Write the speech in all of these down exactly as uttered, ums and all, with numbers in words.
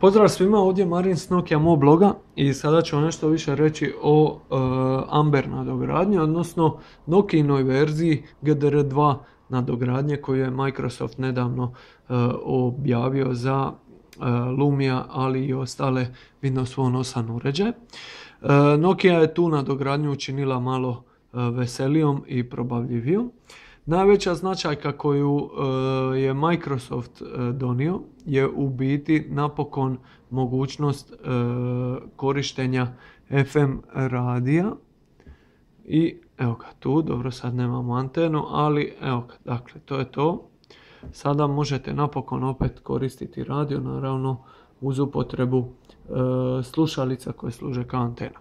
Pozdrav svima, ovdje je Marin s Nokia Mo bloga i sada ću nešto više reći o uh, Amber nadogradnji, odnosno Nokiinoj verziji G D R dva nadogradnje koju je Microsoft nedavno uh, objavio za uh, Lumia, ali i ostale Windows Phone osam uređaje. Uh, Nokia je tu nadogradnju učinila malo uh, veselijom i probavljivijom. Najveća značajka koju uh, je Microsoft uh, donio je u biti napokon mogućnost uh, korištenja F M radija. I evo ga tu, dobro sad nemamo antenu, ali evo ga, dakle to je to. Sada možete napokon opet koristiti radio, naravno uz upotrebu uh, slušalica koje služe kao antena.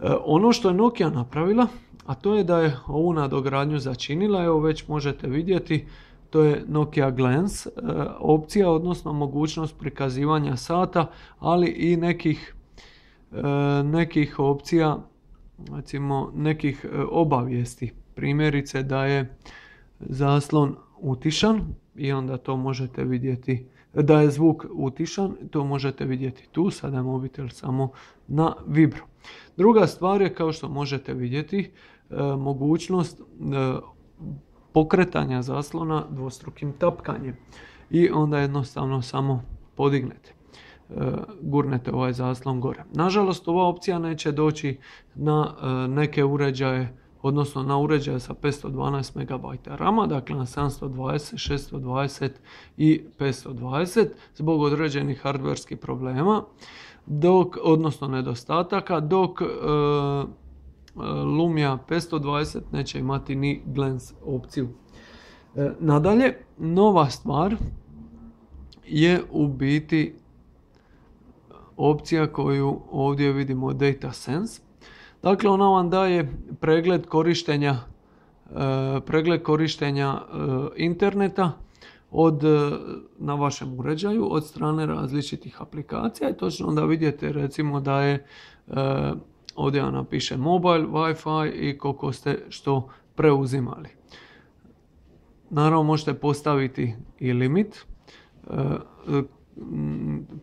Uh, ono što je Nokia napravila, a to je da je ovu nadogradnju začinila, evo već možete vidjeti, to je Nokia Glance e, opcija, odnosno mogućnost prikazivanja sata, ali i nekih, e, nekih opcija, recimo nekih e, obavijesti. Primjerice da je zaslon utišan i onda to možete vidjeti, da je zvuk utišan, to možete vidjeti tu, sada je mobitel samo na vibro. Druga stvar je, kao što možete vidjeti, e, mogućnost e, pokretanja zaslona dvostrukim tapkanjem i onda jednostavno samo podignete, e, gurnete ovaj zaslon gore. Nažalost, ova opcija neće doći na e, neke uređaje, odnosno na uređaje sa petsto dvanaest megabajta rama, dakle na sedamsto dvadeset, šesto dvadeset i petsto dvadeset zbog određenih hardverskih problema, dok, odnosno nedostataka, dok e, Lumia petsto dvadeset neće imati ni Glance opciju. E, nadalje, nova stvar je u biti opcija koju ovdje vidimo, Data Sense. Dakle, ona vam daje pregled korištenja, e, pregled korištenja e, interneta od, na vašem uređaju od strane različitih aplikacija i točno da vidite recimo da je e, ovdje vam napiše mobile, Wi-Fi i koliko ste što preuzimali. Naravno možete postaviti i limit,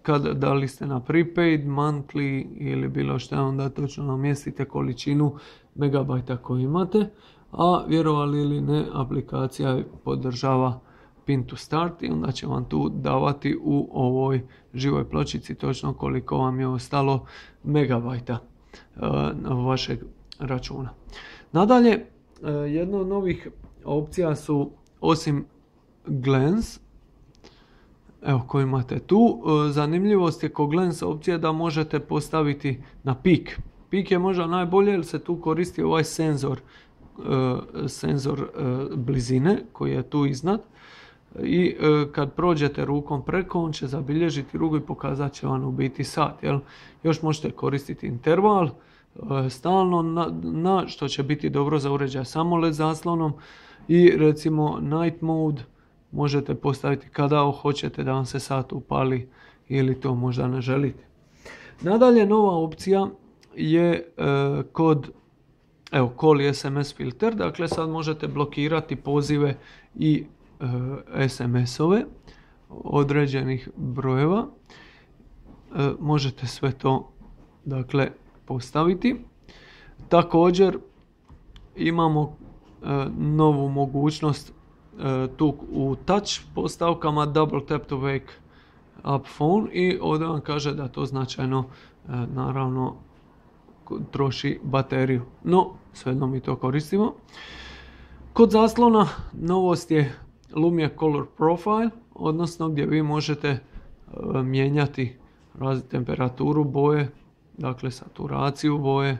kad, da li ste na prepaid, monthly ili bilo što, onda točno namjestite količinu megabajta koju imate, a vjerovali ili ne, aplikacija podržava pin to start i onda će vam tu davati u ovoj živoj pločici točno koliko vam je ostalo megabajta vašeg računa. Nadalje, jedna od novih opcija su, osim Glance, evo koju imate tu, zanimljivost je kod Glance opcije da možete postaviti na pik. Pik je možda najbolje jer se tu koristi ovaj senzor, senzor blizine koji je tu iznad. I e, kad prođete rukom preko, on će zabilježiti ruku i pokazat će vam u biti sat. Jel? Još možete koristiti interval e, stalno, na, na što će biti dobro za uređaj s AMOLED zaslonom i recimo night mode možete postaviti kada hoćete da vam se sat upali ili to možda ne želite. Nadalje, nova opcija je e, kod evo, call i S M S filter, dakle sad možete blokirati pozive i S M S-ove određenih brojeva. E, možete sve to dakle postaviti. Također imamo e, novu mogućnost e, tu u touch postavkama double tap to wake up phone i ovdje vam kaže da to značajno e, naravno troši bateriju. No, svejedno mi to koristimo. Kod zaslona novost je Lumia Color Profile, odnosno gdje vi možete e, mijenjati različitu temperaturu boje, dakle saturaciju boje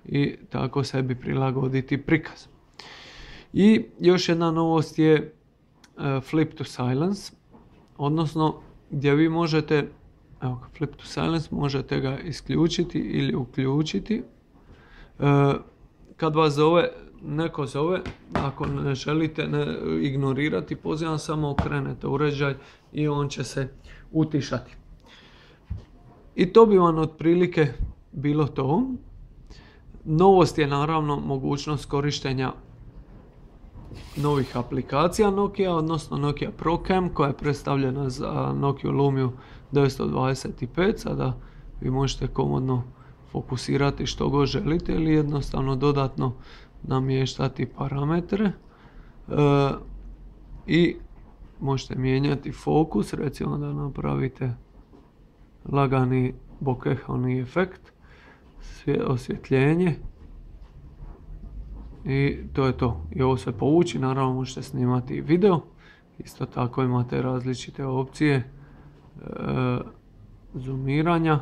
i tako sebi prilagoditi prikaz. I još jedna novost je e, Flip to Silence, odnosno gdje vi možete, evo Flip to Silence, možete ga isključiti ili uključiti. E, kad vas zove neko zove, ako ne želite ne ignorirati, pozivam, samo okrenete uređaj i on će se utišati. I to bi vam otprilike bilo to. Novost je naravno mogućnost korištenja novih aplikacija Nokia, odnosno Nokia ProCam koja je predstavljena za Nokia Lumia devetsto dvadeset pet. Sada vi možete komodno fokusirati što god želite ili jednostavno dodatno namještati parametre e, i možete mijenjati fokus, recimo da napravite lagani bokehoni efekt, osvjetljenje i to je to. I ovo se povući, naravno možete snimati video, isto tako imate različite opcije e, zoomiranja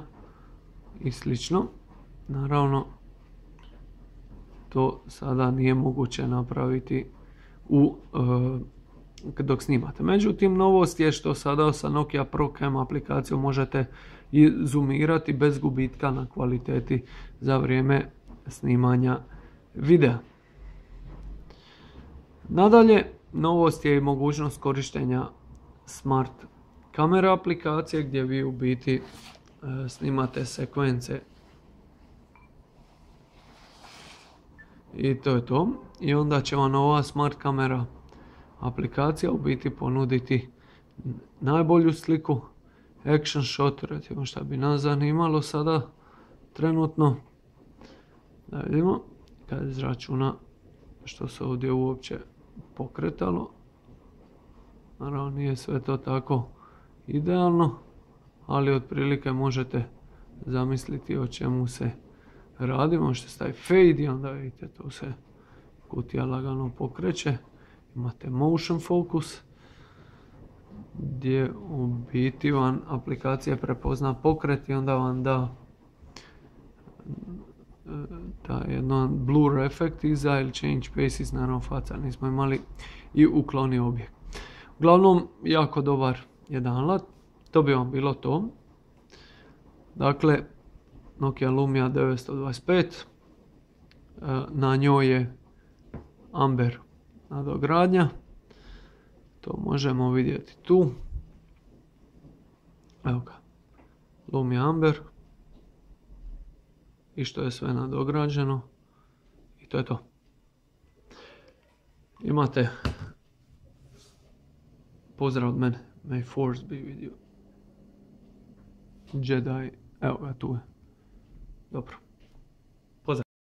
i slično. Naravno to sada nije moguće napraviti u e, dok snimate. Međutim, novost je što sada sa Nokia ProCam aplikacijom možete i zoomirati bez gubitka na kvaliteti za vrijeme snimanja videa. Nadalje, novost je i mogućnost korištenja smart kamera aplikacije gdje vi u biti e, snimate sekvence i to je to. I onda će vam ova smart kamera aplikacija u biti ponuditi najbolju sliku, action shot, recimo šta bi nas zanimalo sada trenutno. Da vidimo kad izračuna što se ovdje uopće pokretalo. Naravno nije sve to tako idealno, ali otprilike možete zamisliti o čemu se radi. Možete staviti fade i onda vidite tu se kutija lagano pokreće. Imate motion focus gdje u biti vam aplikacija prepozna pokret i onda vam da da jedan blur efekt iza ili change faces, naravno faca nismo imali, i ukloni objekt. Uglavnom, jako dobar jedan alat. To bi vam bilo to. Dakle, Nokia Lumia devetsto dvadeset pet, na njoj je Amber nadogradnja, to možemo vidjeti tu. Evo ga, Lumia Amber i što je sve nadograđeno i to je to. Imate pozdrav od mene, may force be with you. Jedi, evo ga tu je. Dobro.